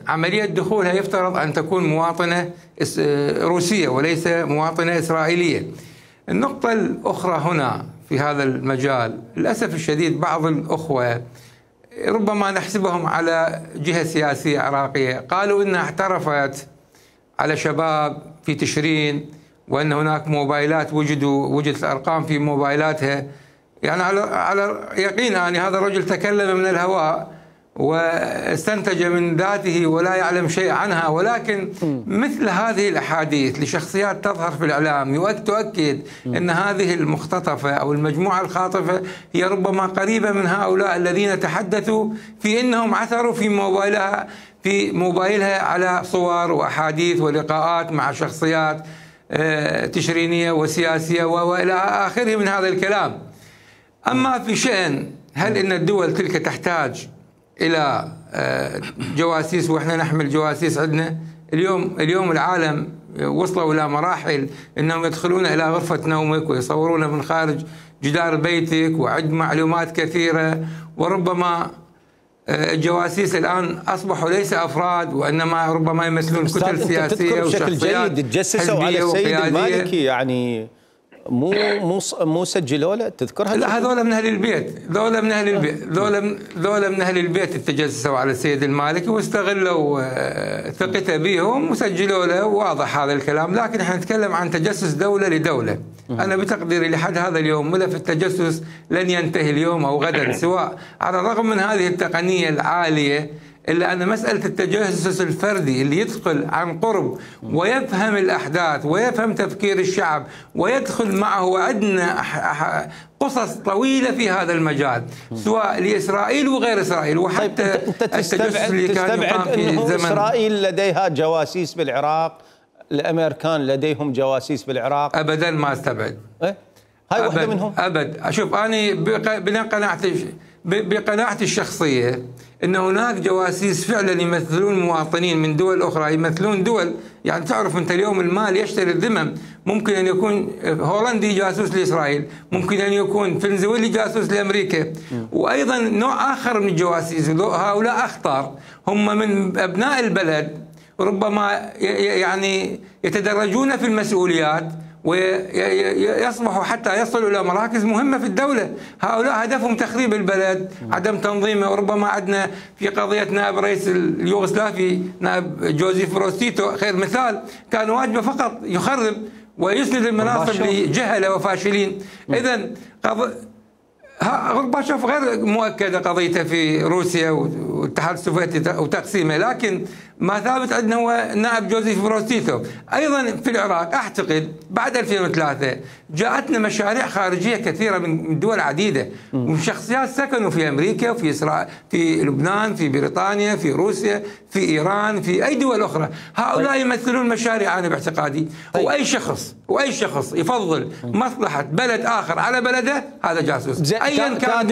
عملية دخولها يفترض أن تكون مواطنة روسية وليس مواطنة إسرائيلية. النقطة الأخرى هنا في هذا المجال، للأسف الشديد بعض الأخوة ربما نحسبهم على جهة سياسية عراقية قالوا إنها اعترفت على شباب في تشرين وأن هناك موبايلات وجدت الأرقام في موبايلاتها. يعني على يقين يعني هذا الرجل تكلم من الهواء واستنتج من ذاته ولا يعلم شيء عنها، ولكن مثل هذه الأحاديث لشخصيات تظهر في الإعلام تؤكد أن هذه المختطفة أو المجموعة الخاطفة هي ربما قريبة من هؤلاء الذين تحدثوا في أنهم عثروا في موبايلها على صور وأحاديث ولقاءات مع شخصيات تشرينية وسياسية وإلى آخره من هذا الكلام. أما في شأن هل إن الدول تلك تحتاج إلى جواسيس وإحنا نحمل جواسيس عندنا؟ اليوم العالم وصلوا إلى مراحل أنهم يدخلون إلى غرفة نومك ويصورون من خارج جدار بيتك وعد معلومات كثيرة، وربما الجواسيس الآن أصبحوا ليس أفراد وإنما ربما يمثلون كتل سياسية بشكل جيد تجسسوا على السيد المالكي، يعني مو سجلوا له تذكرها؟ لا، هذول من اهل البيت، ذولا من اهل البيت تجسسوا على السيد المالكي واستغلوا ثقته بهم وسجلوا له، واضح هذا الكلام. لكن احنا نتكلم عن تجسس دولة لدولة. انا بتقديري لحد هذا اليوم ملف التجسس لن ينتهي اليوم او غدا، سواء على الرغم من هذه التقنية العالية، إلا أن مسألة التجسس الفردي اللي يدخل عن قرب ويفهم الأحداث ويفهم تفكير الشعب ويدخل معه، وعندنا قصص طويلة في هذا المجال سواء لإسرائيل وغير إسرائيل. وحتى أنت تستبعد أنه إسرائيل لديها جواسيس بالعراق، الأمريكان لديهم جواسيس بالعراق؟ أبدا ما استبعد. هاي واحدة منهم؟ أبد. أشوف أنا بقناعتي الشخصية أن هناك جواسيس فعلا يمثلون مواطنين من دول أخرى، يمثلون دول. يعني تعرف أنت اليوم المال يشتري الذمم، ممكن أن يكون هولندي جاسوس لإسرائيل، ممكن أن يكون فنزويلي جاسوس لأمريكا. وأيضا نوع آخر من الجواسيس، هؤلاء أخطر، هم من أبناء البلد، ربما يعني يتدرجون في المسؤوليات ويصبحوا حتى يصلوا إلى مراكز مهمة في الدولة. هؤلاء هدفهم تخريب البلد، عدم تنظيمه. وربما عندنا في قضية نائب رئيس اليوغوسلافي نائب جوزيف بروز تيتو خير مثال، كان واجبه فقط يخرب ويسند المناصب لجهلة وفاشلين. إذن غورباتشوف غير مؤكدة قضيته في روسيا والاتحاد السوفيتي وتقسيمه، لكن ما ثابت عندنا هو نائب جوزيف بروز تيتو. أيضا في العراق أعتقد بعد 2003 جاءتنا مشاريع خارجية كثيرة من دول عديدة، وشخصيات سكنوا في أمريكا وفي إسرائيل، في لبنان، في بريطانيا، في روسيا، في إيران، في أي دول أخرى. هؤلاء يمثلون مشاريع أنا باعتقادي. وأي شخص يفضل مصلحة بلد آخر على بلده هذا جاسوس أيا كان.